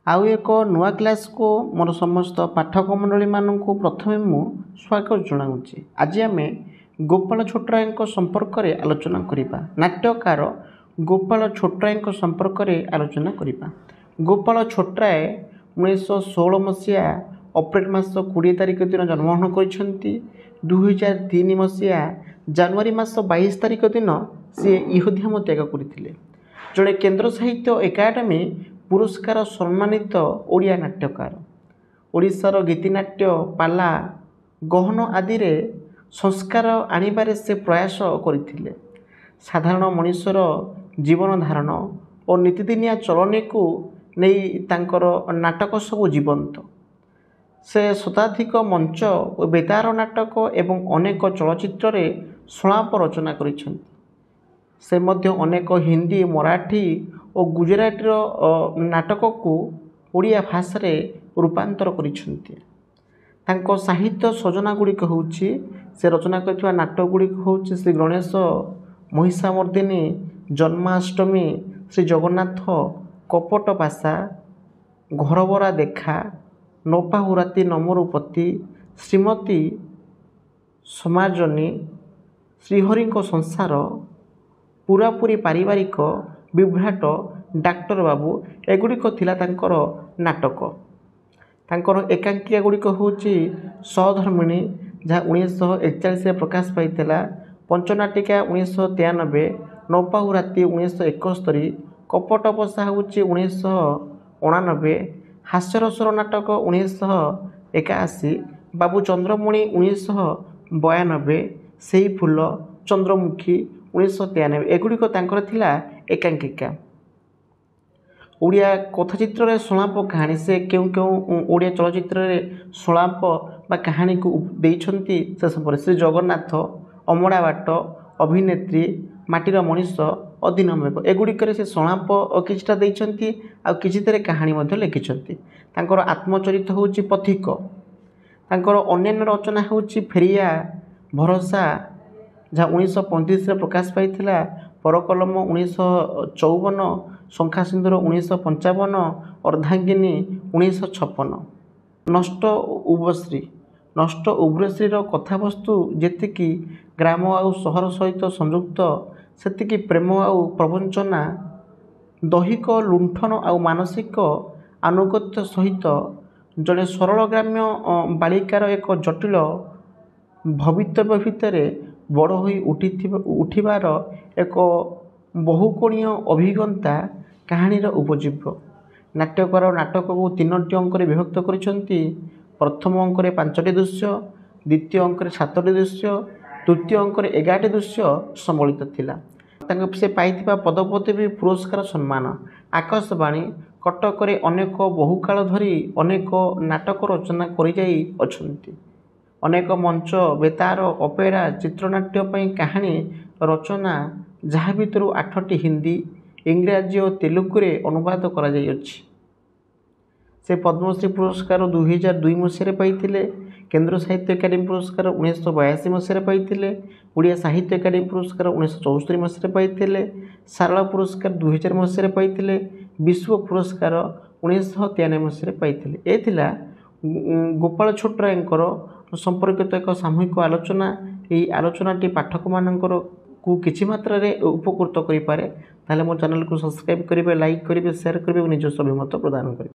ଆଉ ଏକ ନୂଆ କ୍ଲାସ୍କୁ ମୋର ସମସ୍ତ ପାଠକ ମଣ୍ଡଳୀମାନଙ୍କୁ ପ୍ରଥମେ ମୁଁ ସ୍ୱାଗତ ଜଣାଉଛି। ଆଜି ଆମେ ଗୋପାଳ ଛୋଟରାୟଙ୍କ ସମ୍ପର୍କରେ ଆଲୋଚନା କରିବା। ନାଟ୍ୟକାର ଗୋପାଳ ଛୋଟରାୟଙ୍କ ସମ୍ପର୍କରେ ଆଲୋଚନା କରିବା। ଗୋପାଳ ଛୋଟରାୟ 1916 ମସିହା ଅପ୍ରିଲ ମାସ 20 ତାରିଖ ଦିନ ଜନ୍ମଗ୍ରହଣ କରିଛନ୍ତି। 2003 ମସିହା ଜାନୁଆରୀ ମାସ 22 ତାରିଖ ଦିନ ସିଏ ଇହଧାମ ତ୍ୟାଗ କରିଥିଲେ। ଜଣେ କେନ୍ଦ୍ର ସାହିତ୍ୟ ଏକାଡେମୀ ପୁରସ୍କାର ସମ୍ମାନିତ ଓଡ଼ିଆ ନାଟ୍ୟକାର। ଓଡ଼ିଶାର ଗୀତିନାଟ୍ୟ, ପାଲା, ଗହନ ଆଦିରେ ସଂସ୍କାର ଆଣିବାରେ ସେ ପ୍ରୟାସ କରିଥିଲେ। ସାଧାରଣ ମଣିଷର ଜୀବନ ଧାରଣ ଓ ନିତିଦିନିଆ ଚଳନୀକୁ ନେଇ ତାଙ୍କର ନାଟକ ସବୁ ଜୀବନ୍ତ। ସେ ଶତାଧିକ ମଞ୍ଚ ଓ ବେତାର ନାଟକ ଏବଂ ଅନେକ ଚଳଚ୍ଚିତ୍ରରେ ସଂଳାପ ରଚନା କରିଛନ୍ତି। ସେ ମଧ୍ୟ ଅନେକ ହିନ୍ଦୀ, ମରାଠୀ ଓ ଗୁଜରାଟୀର ନାଟକକୁ ଓଡ଼ିଆ ଭାଷାରେ ରୂପାନ୍ତର କରିଛନ୍ତି। ତାଙ୍କ ସାହିତ୍ୟ ସଜନା ଗୁଡ଼ିକ ହେଉଛି, ସେ ରଚନା କରିଥିବା ନାଟକ ଗୁଡ଼ିକ ହେଉଛି ଶ୍ରୀ ଗଣେଶ, ମହିଷାମର୍ଦ୍ଦିନୀ, ଜନ୍ମାଷ୍ଟମୀ, ଶ୍ରୀ ଜଗନ୍ନାଥ, କପଟ ପାଶା, ଘରବରା ଦେଖା, ନପାହୁ ରାତି ନମରୁ ପତି, ଶ୍ରୀମତୀ ସମାଜନୀ, ଶ୍ରୀହରିଙ୍କ ସଂସାର, ପୁରାପୁରି ପାରିବାରିକ, ବିଭ୍ରାଟ, ଡାକ୍ତର ବାବୁ, ଏଗୁଡ଼ିକ ଥିଲା ତାଙ୍କର ନାଟକ। ତାଙ୍କର ଏକାଙ୍କିକା ଗୁଡ଼ିକ ହେଉଛି ସହଧର୍ମିଣୀ, ଯାହା 1941ରେ ପ୍ରକାଶ ପାଇଥିଲା, ପଞ୍ଚନାଟିକା 1993, ନପାହୁ ରାତି 1971, କପଟ ବସା ହେଉଛି 1989, ହାସ୍ୟରସର ନାଟକ 1981, ବାବୁ ଚନ୍ଦ୍ରମଣି 1992, ସେଇ ଫୁଲ, ଚନ୍ଦ୍ରମୁଖୀ 1993, ଏଗୁଡ଼ିକ ତାଙ୍କର ଥିଲା ଏକାଙ୍କିକା। ଓଡ଼ିଆ କଥାଚିତ୍ରରେ ସଂଳାପ କାହାଣୀ, ସେ କେଉଁ କେଉଁ ଓଡ଼ିଆ ଚଳଚ୍ଚିତ୍ରରେ ସଂଳାପ ବା କାହାଣୀକୁ ଦେଇଛନ୍ତି ସେ ସମ୍ପର୍କରେ: ଶ୍ରୀ ଜଗନ୍ନାଥ, ଅମଡ଼ା ବାଟ, ଅଭିନେତ୍ରୀ, ମାଟିର ମଣିଷ, ଅଧୀନମେଘ, ଏଗୁଡ଼ିକରେ ସେ ସଂଳାପ କିଛିଟା ଦେଇଛନ୍ତି ଆଉ କିଛିଥିରେ କାହାଣୀ ମଧ୍ୟ ଲେଖିଛନ୍ତି। ତାଙ୍କର ଆତ୍ମଚରିତ ହେଉଛି ପଥିକ। ତାଙ୍କର ଅନ୍ୟାନ୍ୟ ରଚନା ହେଉଛି ଫେରିଆ ଭରସା, ଯାହା 1935ରେ ପ୍ରକାଶ ପାଇଥିଲା, ପରକଲମ 1954, ଶଙ୍ଖା ସିନ୍ଦୁର 1955, ଅର୍ଦ୍ଧାଙ୍ଗିନୀ 1956। ନଷ୍ଟ ଉର୍ବଶ୍ରୀ। ନଷ୍ଟ ଉର୍ବଶ୍ରୀର କଥାବସ୍ତୁ ଯେତିକି ଗ୍ରାମ ଆଉ ସହର ସହିତ ସଂଯୁକ୍ତ, ସେତିକି ପ୍ରେମ ଆଉ ପ୍ରବଞ୍ଚନା, ଦୈହିକ ଲୁଣ୍ଠନ ଆଉ ମାନସିକ ଆନୁଗତ୍ୟ ସହିତ ଜଣେ ସରଳ ଗ୍ରାମ୍ୟ ବାଳିକାର ଏକ ଜଟିଳ ଭବିତବ୍ୟ ଭିତରେ ବଡ଼ ହୋଇ ଉଠିଥିବା ଉଠିବାର ଏକ ବହୁକୋଣୀୟ ଅଭିଜ୍ଞତା କାହାଣୀର ଉପଜୀବ୍ୟ। ନାଟ୍ୟକାର ନାଟକକୁ 3ଟି ଅଙ୍କରେ ବିଭକ୍ତ କରିଛନ୍ତି। ପ୍ରଥମ ଅଙ୍କରେ 5ଟି ଦୃଶ୍ୟ, ଦ୍ୱିତୀୟ ଅଙ୍କରେ 7ଟି ଦୃଶ୍ୟ, ତୃତୀୟ ଅଙ୍କରେ 11ଟି ଦୃଶ୍ୟ ସମ୍ବଳିତ ଥିଲା। ତାଙ୍କ ସେ ପାଇଥିବା ପଦପଦବୀ, ପୁରସ୍କାର, ସମ୍ମାନ: ଆକାଶବାଣୀ କଟକରେ ଅନେକ ବହୁକାଳ ଧରି ଅନେକ ନାଟକ ରଚନା କରିଯାଇ ଅଛନ୍ତି। ଅନେକ ମଞ୍ଚ, ବେତାର, ଅପେରା, ଚିତ୍ରନାଟ୍ୟ ପାଇଁ କାହାଣୀ ରଚନା, ଯାହା ଭିତରୁ 8ଟି ହିନ୍ଦୀ, ଇଂରାଜୀ ଓ ତେଲୁଗୁରେ ଅନୁବାଦ କରାଯାଇଅଛି। ସେ ପଦ୍ମଶ୍ରୀ ପୁରସ୍କାର 2002 ମସିହାରେ ପାଇଥିଲେ। କେନ୍ଦ୍ର ସାହିତ୍ୟ ଏକାଡେମୀ ପୁରସ୍କାର 1982 ମସିହାରେ ପାଇଥିଲେ। ଓଡ଼ିଆ ସାହିତ୍ୟ ଏକାଡେମୀ ପୁରସ୍କାର 1974 ମସିହାରେ ପାଇଥିଲେ। ସାରଳା ପୁରସ୍କାର 2000 ମସିହାରେ ପାଇଥିଲେ। ବିଶ୍ୱ ପୁରସ୍କାର 1993 ମସିହାରେ ପାଇଥିଲେ। ଏ ଥିଲା ଗୋପାଳ ଛୋଟରାୟଙ୍କର ସମ୍ପର୍କିତ ଏକ ସାମୂହିକ ଆଲୋଚନା। ଏହି ଆଲୋଚନାଟି ପାଠକମାନଙ୍କର କୁ କିଛି ମାତ୍ରାରେ ଉପକୃତ କରିପାରେ। ତାହେଲେ ମୋ ଚ୍ୟାନେଲକୁ ସବସ୍କ୍ରାଇବ୍ କରିବେ, ଲାଇକ୍ କରିବେ, ସେୟାର କରିବେ ଏବଂ ନିଜସ୍ୱ ଅଭିମତ ପ୍ରଦାନ କରିବେ।